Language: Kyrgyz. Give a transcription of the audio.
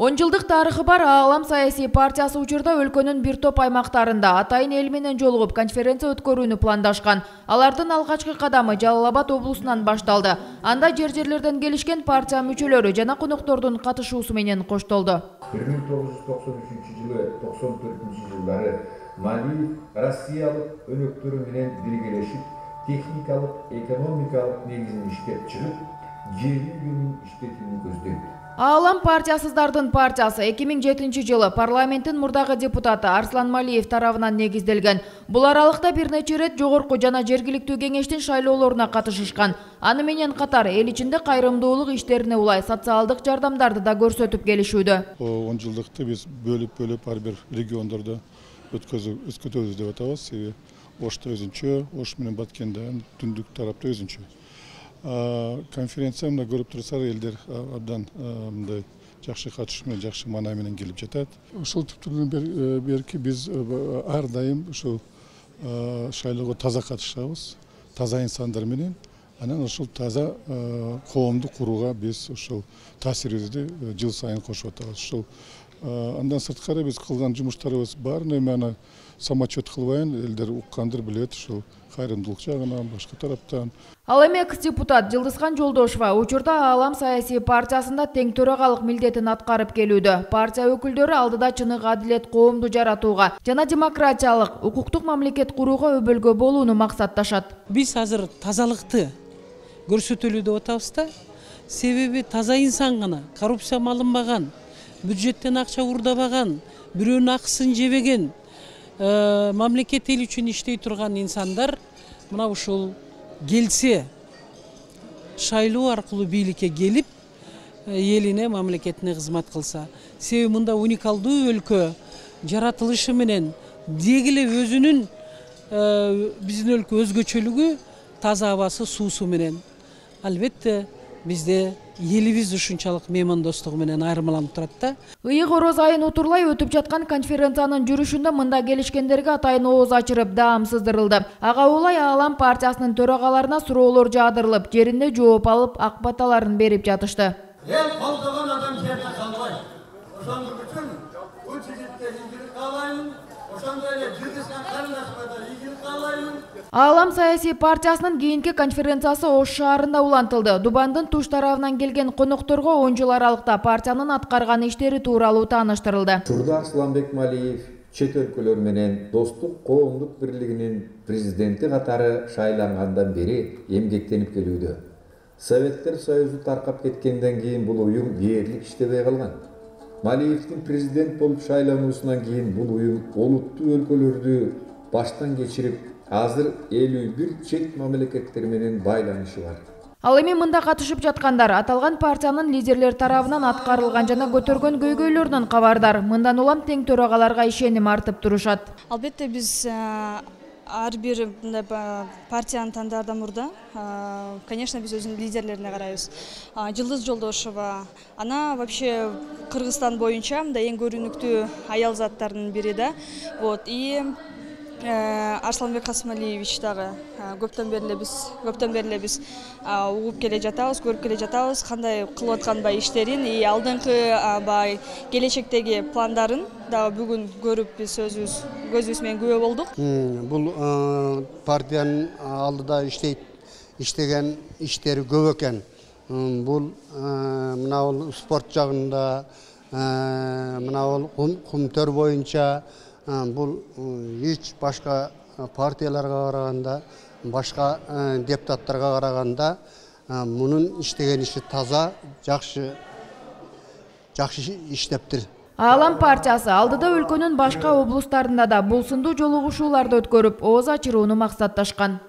10 жылдык тарыхы бар Аалам саясий партиясы учурда өлкөнүн бир топ аймактарында атайын эл менен жолугуп конференция өткөрүүнү пландашкан. Алардын алгачкы кадамы Жалал Абад облусунан башталды. Анда жер-жерлерден келишкен партия мүчөлөрү жана коноктордун катышуусу менен коштолду. 1993-жылы 94-жылдары Малиев Россиялык өнөктөрү менен биргелешип, техникалык, экономикалык негизин иштеп чыгып, жердин күнүн иштетүүнү көздөйт. Аалам партиясыздардын партиясы 2007-жылы парламенттин мурдагы депутаты Арслан Малиев тарабынан негизделген. Бул аралыкта бир нече рет жогорку жана жергиликтүү кеңештин шайлоолоруна катышышкан. Аны менен катар эл ичинде кайрымдуулук иштерине улай социалдык жардамдарды да көрсөтүп келишүүдө. 10 жылдыкты биз бөлүп ар бир региондордо өткөзөбүз деп атабыз. Себеби Ошто өзүнчө, Ош менен Баткенде, түндүк тарапта өзүнчө. Конференция мына көрүп турсаңар, элдер абдан мындай жакшы катышуу менен, жакшы маанай менен келип жатат. Ушул түптүрдөн берки биз ар дайым ушул шайлоого таза катышабыз, таза инсандар менен. Анан ушул таза коомду курууга биз ушул таасирибизди жыл сайын кошуп атабыз. Ушул андан сырткары биз кылган жумуштарыбыз баарына эми самочет кылбайын, элдер уккандыр, билет, ушул кайрымдуулук жагынан, башка тараптан. Ал эми экс-депутат Жылдызхан Жолдошова учурда Аалам саясий партиясында тең төрагалык милдетин аткарып келүүдө. Партия өкүлдөрү алдыда чыныгы адилет коомду жаратууга жана демократиялык, укуктук мамлекет курууга өбөлгө болууну максатташат. Биз азыр тазалыкты көрсөтөлү деп атабыз да. Себеби таза инсан гана, коррупция алынбаган, бюджеттен акча урдабаган, бирөөнүн акысын жебеген, мамлекет эл үчүн иштей турган инсандар мына ушул келсе, шайлоо аркылуу бийликке келип, элине, мамлекетине кызмат кылса. Себеби мында уникалдуу өлкө жаратылышы менен деги эле өзүнүн биздин өлкө өзгөчөлүгү таза абасы, суусу менен. Албетте бизде элибиз ушунчалык меймандостугу менен айырмаланып турат да. Ыйык ороз айын утурлай өтүп жаткан конференциянын жүрүшүндө мында келишкендерге атайын ооз ачырып даам сыздырылды. Ага улай Аалам партиясынын төрагаларына суроолор жаадырылып, жеринде жооп алып, ак баталарын берип жатышты. Эл колдогон адам жерде калбайт. Ошондук үчүн бул жигитке ийгилик каалайм. Ошондой эле Жылдызхан карындашыма да ийгилик каалайм. Аалам саясий партиясынын кийинки конференциясы Ош шаарында улантылды. Дубандын туш тарабынан келген конокторго 10 жыл аралыкта партиянын аткарган иштери тууралуу тааныштырылды. Учурда Арсланбек Малиев чет өлкөлөр менен достук коомдук бирлигинин президенти катары шайлангандан бери эмгектенип келүүдө. Советтер Союзу таркап кеткенден кийин бул уюм дээрлик иштебей калган. Малиевдин президент болуп шайлануусунан кийин бул уюм олуттуу өлкөлөрдү баштан кечирип, азыр 51 чет мамлекеттер менен байланышы бар. Ал эми мында катышып жаткандар аталган партиянын лидерлер тарабынан аткарылган жана көтөргөн көйгөйлөрүнөн кабардар. Мындан улам тең төрагаларга ишеним артып турушат. Албетте биз ар бир партиянын тандаардан мурда, конечно, биз өзүнүн лидерлерине карайбыз. Жылдыз Жолдошова, ана вообще Кыргызстан боюнча мындай эң көрүнүктүү аял заттардын бири да. Вот, и Арсланбек Касымалиевич дагы көптөн бери биз угуп келе жатабыз, көрүп келе жатабыз, кандай кылып аткан иштерин, и алдыңкы келечектеги пландарын дагы бүгүн көрүп биз көзүбүз менен күбө болдук. Бул партиянын алдыда иштеген иштери көп экен. Бул мына спорт жагында, мына кумтөр боюнча бул эч башка партияларга караганда, башка депутаттарга караганда мунун иштеген иши таза, жакшы иштептир. Аалам партиясы алдыда өлкөнүн башка облустарында да бул сындуу жолугушууларды өткөрүп, ооз ачырууну максатташкан.